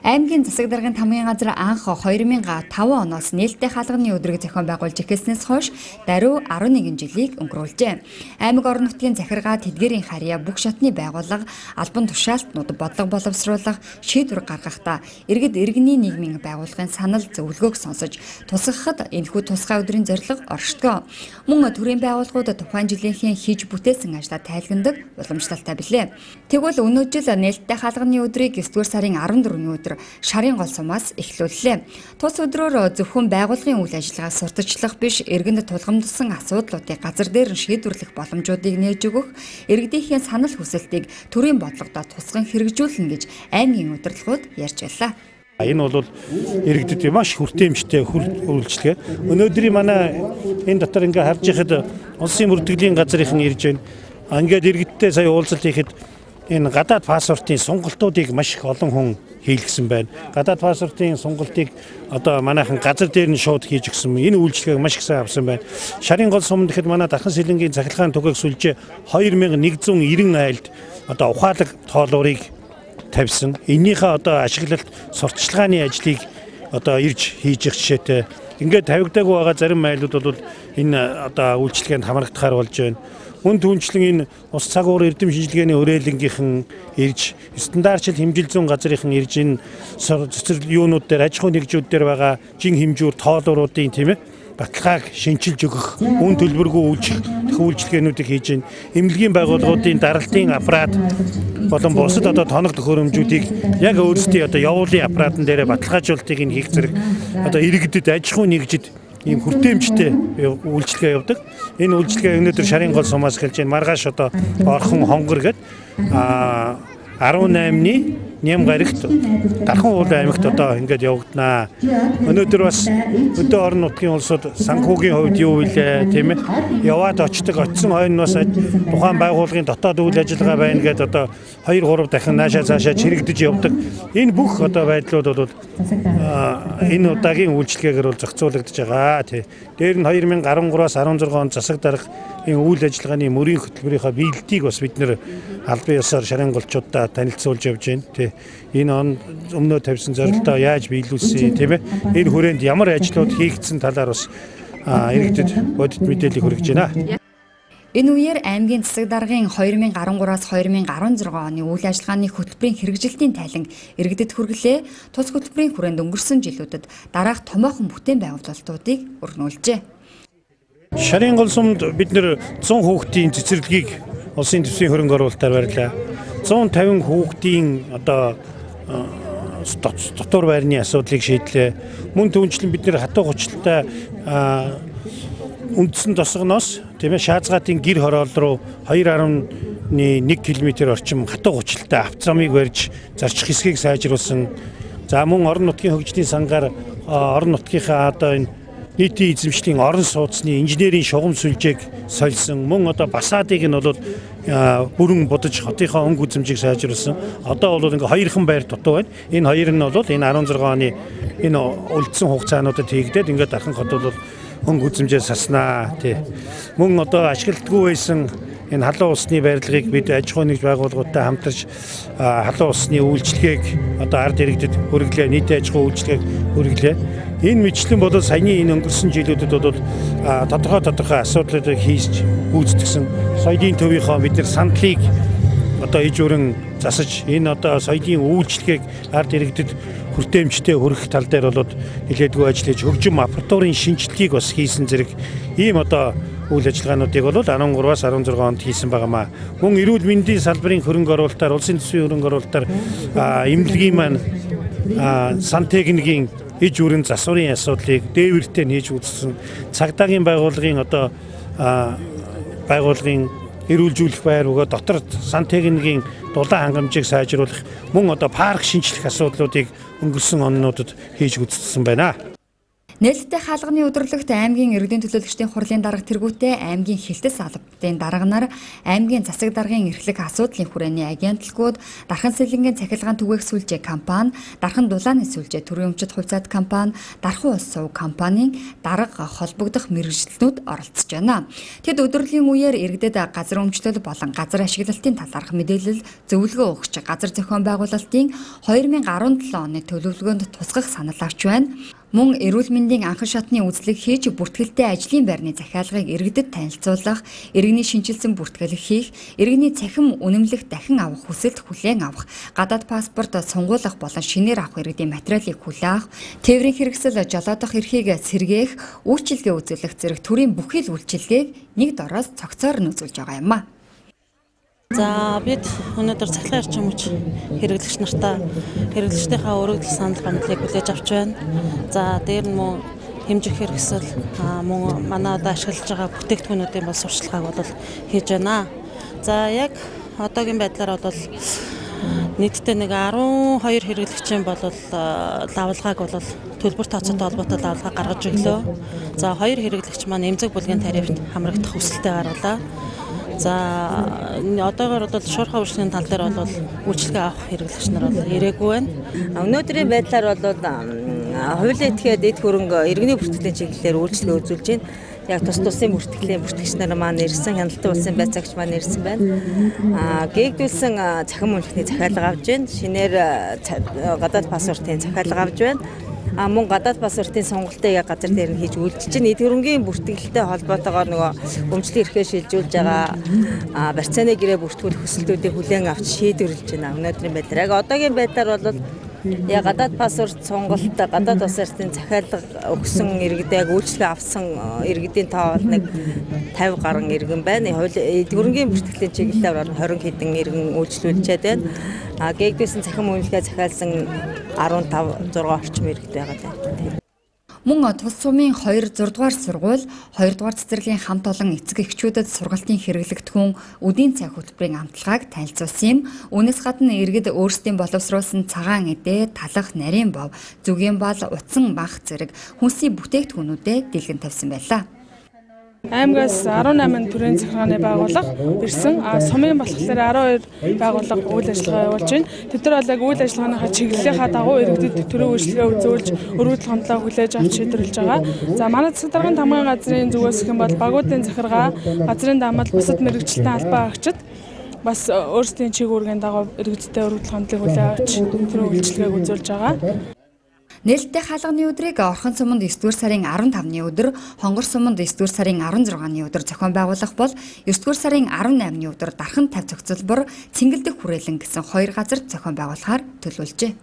Аймгийн засаг даргын тамгын газар анх 2005 оноос нээлттэй хаалганы өдрийг зохион байгуулж эхэлснээс хойш даруй 11 жилийг өнгөрүүлжээ. Аймаг орон нутгийн захиргаа тэдгэрийн харьяа бүх шатны байгууллага, албан тушаалтнууд бодлого боловсруулах, шийдвэр гаргахдаа иргэд иргэний нийгмийн байгууллагын санал зөвлөгөөг сонсож тусгахад энэхүү тусгай өдрийн зорилго оршдог. Мөн төрийн байгууллагууд тухайн жилийнхээ хийж бүтээсэн ажлаа тайлгнадаг уламжлалтай билээ. Тэгвэл өнөө жил нээлттэй хаалганы өдрийг 9-р сарын 14-ний өдөр шарын гол сумаас эхлүүллээ. Тус өдрөөр зөвхөн байгууллагын үйл ажиллагааг сурталчлах биш, иргэнд тулгамдсан асуудлуудыг газар дээр нь шийдвэрлэх боломжуудыг нээж өгөх, иргэдийнхээ санал хүсэлтийг төрийн бодлогодоо тусган хэрэгжүүлнэ гэж аймгийн удирдлагууд ярьж байлаа. Энэ бол иргэдэд маш хүртээмжтэй үйлчлэгээ. Өнөөдрийн манай энэ дотор ингээ харж байхад улсын бүртгэлийн газрынхан ирж байна. Ингээд иргэдтэй сая уулзалт хийхэд энэ гадаад паспортын сонголтуудыг маш их олон хүн хийлгсэн байна. Гадаад паспортын сонголтыг одоо манайхан газар дээр нь шууд хийж өгсөн. Энэ үйлчлэгийг маш их сайн авсан байна. Шарын гол сум гэхэд манай Дархан Сэлэнгийн захиргааны түгээх сүлжээ 2190 айлд одоо ухаалаг тоолуурыг тавьсан. Энийхээ одоо ашиглалт сурталчилгааны ажлыг одоо ирж хийж их жишээтэй. Ингээд тавигдаагүй байгаа зарим айлууд бол энэ одоо үйлчлэгээнд хамрагдахаар болж байна. Хүн түнчлэн энэ ус цагуур эрдэм шинжилгээний хүрээлэнгийнхэн ирж стандартчил хэмжил зүүн газрынхан ирж энэ цэцэрлэг юунууд дээр аж ахуйн нэгжүүд дээр байгаа жин хэмжүүр тоолууруудын тийм ээ баталгааг шинчилж өгөх, үн төлбөргүй үйлчлэгээнүүдийг хийж байна. Эмнэлгийн байгууллагуудын даралтын аппарат болон бусад одоо тоног төхөөрөмжүүдийг яг өөрсдийн одоо явуулын аппаратын дээр баталгаажуулалтыг нь хийх зэрэг одоо иргэдэд аж ахуйн нэгжид ийм хүртээмжтэй үйлчлэгээ явуулдаг. Энэ үйлчлэгээ өнөөдөр шарын гол сумаас эхэлж байна. Маргааш одоо Орхон хонгор гээд 18-ны Нямгарагт Дархан уул аймагт одоо ингээд явагдана. Өнөөдөр бас өдөө орон нутгийн улсууд санхүүгийн хувьд юу вүлээ тийм ээ яваад очсон хойно бас тухайн байгууллагын дотоод үйл ажиллагаа байна гэдэг одоо 2-3 дахин наашаа цаашаа чирэгдэж явдаг. Энэ бүх одоо байдлууд бол энэ удаагийн үйлчлэгээр бол зохицуулагдж байгаа тий. Дээр нь 2013-аас 16 он засаг дарга энэ үйл ажиллагааны мөрийн хөтөлбөрийнхөө биелэлтийг бас бид нэр албан ёсоор шарын голчуудаа танилцуулж явж байна тий. Энэ он өмнөө тавьсан зорилтоо яаж биелүүлсэн тийм ээ. Энэ хүрээнд ямар ажлууд хийгдсэн талаар бас иргэдэд бодит мэдээлэл хүргэж байна. Энэ үеэр аймгийн засаг даргын 2013-аас 2016 оны үйл ажиллагааны хөтөлбөрийн хэрэгжилтийн тайлан иргэдэд хүргэлээ. Тус хөтөлбөрийн хүрээнд өнгөрсөн жилүүдэд дараах томоохон бүтээн байгуулалтуудыг өрнүүлжээ. Шарын гол сумд бид нэр 100 хүүхдийн цэцэрлэгийг улсын төсвийн хөрөнгө оруулалтаар барьлаа. 150 хүүхдийн одоо дотор байрны асуудлыг шийдлээ. Мөн түүнчлэн бид нэр хатуу гучлалтай үндсэн тосгоноос тийм ээ Шаазгаатын гэр хороол руу 2.1 км орчим хатуу гучлалтай автозамыг барьж зарчих хэсгийг сайжруулсан. За мөн орон нутгийн хөгжлийн сангаар орон нутгийнхаа одоо энэ нийтийн эзэмшлийн орон сууцны инженерийн шугам сүлжээг сольсон. Мөн одоо Басаадыг нь бол бүрэн будаж хотынхоо өнгө үзэмжийг сайжруулсан. Одоо бол ингээ хоёрхан байр дутуу байна. Энэ хоёр нь бол энэ 16 оны энэ үлдсэн хугацаануудад хийгдээд ингээ Дархан хот бол өнгө үзэмжээ саснаа тий. Мөн одоо ашигладгүй байсан энэ халуун усны барилгыг бид аж ахуйн нэгж байгууллагуудтай хамтарч халуун усны үйлчлэгийг одоо ард иргэдэд хүргэлээ, нийтийн аж ахуйн үйлчлэгийг хүргэлээ. Энэ мэтлэн бол саяны энэ өнгөрсөн жилүүдэд бол тодорхой асуудлуудыг хийж гүйцэтгсэн. Соёлын төвийнхөө бид нар сандлыг одоо иж өрн засаж энэ одоо соёлын үйлчлэгийг ард иргэдэд хүртээмжтэй хүргэх тал дээр бол нэлээдгүй ажил хийж хөгжим аппаратурын шинжилгээг бас хийсэн зэрэг ийм одоо үйл ажиллагаануудыг бол 13-аас 16 онд хийсэн байнамаа. Мөн эрүүл мэндийн салбарын хөрөнгө оруулалтаар, улсын төсвийн хөрөнгө оруулалтаар эмнэлгийн маань сан техникийн иж өрн засварын асуудлыг дээвэртэй нээж үзсэн. Цагдаагийн байгууллагын одоо байгууллагын эрүүлжүүлэх байр өгөө дотор сан техникийн дулаан хангамжийг сайжруулах мөн одоо парк шинжлэх асуудлуудыг өнгөрсөн оннуудад хийж үзсэн байна. Нээлттэй хаалганы өдөрлөгт аймгийн иргэдийн төлөөлөгчдийн хурлын дарга тэргүүтээ аймгийн хилтэс албадын дарганаар аймгийн засаг даргын эрхлэх асуудлын хүрээний агентлагууд, дархан сэлэнгийн цахилгаан түгээх сүлжээ компани, дархан дулааны сүлжээ төрийн өмчит хувьцаат компани, дархан ус сувг компанийн дарга холбогдох мэргэжилтнүүд оролцож байна. Тэд өдөрлийн үеэр иргэдэд газар өмчлөл болон газар ашиглалтын талаарх мэдээлэл зөвлөгөө өгч газар зохион байгуулалтын 2017 оны төлөвлөгөөнд тусгах санал авч байна. Мөн эрүүл мэндийн анхан шатны үзлэг хийж бүртгэлтэй ажлын байрны захиалгыг иргэдэд танилцуулах, иргэний шинжилсэн бүртгэлэг хийх, иргэний цахим үнэмлэх дахин авах хүсэлт хүлээн авах, гадаад паспорт сунгуулах болон шинээр авах иргэдийн материалыг хүлээх, тээврийн хэрэгсэл жолоодох эрхийг сэргээх, үйлчилгээ үзүүлэх зэрэг төрийн бүхий л үйлчилгээг нэг дороос цогцоор нь үзүүлж байгаа юм а. За бид өнөөдөр цахилгаан эрчим хүч хэрэглэгч нартаа хэрэглэгчдийнхаа өргөдөл санал гомдлыг хүлээж авч байна. За дээр нь мөн хэмжих хэрэгсэл мөн манай одоо ашиглаж байгаа бүтээгдэхүүнүүдийн бол сурчлагыг бол хийж байна. За яг одоогийн байдлаар бол нийтдээ нэг 12 хэрэглэгчийн бол лавлгааг бол төлбөр тооцоотой холбоотой лавлгаа гаргаж өглөө. За 2 хэрэглэгч маань эмзэг бүлгийн тарифт хамрагдах хүсэлтэд гаргалаа. За одоогоор бол шуурхай үйлчлэгийн тал дээр бол үйлчлэгээ авах хэрэглэгч нар бол ирээгүй байна. Өнөөдрийн байдлаар бол хуулийн этгээд эд хөрөнгө иргэний бүртгэлийн чиглэлээр үйлчлэгээ үзүүлж байна. Яг тус тусын бүртгэлийн бүртгэгч нар маань ирсэн, хяналтын улсын байцаагч маань ирсэн байна. Гээгдүүлсэн цахим үнэлгээний захиалга авж байна. Шинээр гадаад паспортын захиалга авж байна. Мөн гадаад паспортын сонголтыг яг газар дээр нь хийж үйлчилж байна. Эд хөрөнгийн бүртгэлтэй холбоотойгоор нөгөө өмчлөлийн эрхээ шилжүүлж байгаа барьцааны гэрээ бүртгүүлэх хүсэлтүүдийг хүлээн авч шийдвэрлэж байна. Өнөөдрийн байдлаар яг одоогийн байдлаар бол яг гадаад паспорт сонголт, гадаад паспортын захиалга өгсөн иргэдээ яг үйлчлэгээ авсан иргэдийн тоо бол нэг 50 гаруй иргэн байна. Эд хөрөнгийн бүртгэлийн чиглэлээр 20 хэдэн иргэн үйлчлүүлчихэд байна. Гээгдүүлсэн цахим үнэлгээ захиалсан 15-6 орчим иргэд байгаа даа. Мөн тус сумын 2 6 дугаар сургууль, 2 дугаар цэцэрлэгийн хамт олон эцэг эхчүүдэд сургалтын хэрэглэгдэхүүн үдийн цаг хөтөлбөрийн амтлагааг танилцуулсан юм. Үүнээс гадна иргэд өөрсдийн боловсруулсан цагаан эдээ, талах, нарийн бов, зүгийн бал, утсан бах зэрэг хүнсний бүтээгдэхүүнүүдэд дэлгэн тавьсан байлаа. Аймгаас 18 төрийн захиргааны байгууллага ирсэн. Сумын болохоор 12 байгууллага үйл ажиллагаа явуулж байна. Тэд нар бол яг үйл ажиллагааныхаа чиглэлийнхаа дагуу иргэдэд төрийн үйлчлэгээ үзүүлж, өргөдөл хандлага хүлээж авч шийдвэрлэж байгаа. За манай засаг даргын тамгын газрын зүгээс гэх юм бол багуудын захиргаа, газрын даамал, бусад мэргэжилтийн албан агчид бас өөрсдийн чиг үүргийн дагуу иргэдтэй өргөдөл хандлагыг хүлээж авч төрийн үйлчлэгээг үзүүлж байгаа. Нээлттэй хаалганы өдрийг Орхон суманд 9-р сарын 15-ны өдөр, Хонгор суманд 9-р сарын 16-ны өдөр зохион байгуулах бол 9-р сарын 18-ны өдөр дархан тавь цогцлбор, цэнгэлдэх хүрээлэн гэсэн 2 газар зохион байгуулахаар төлөвлөжээ.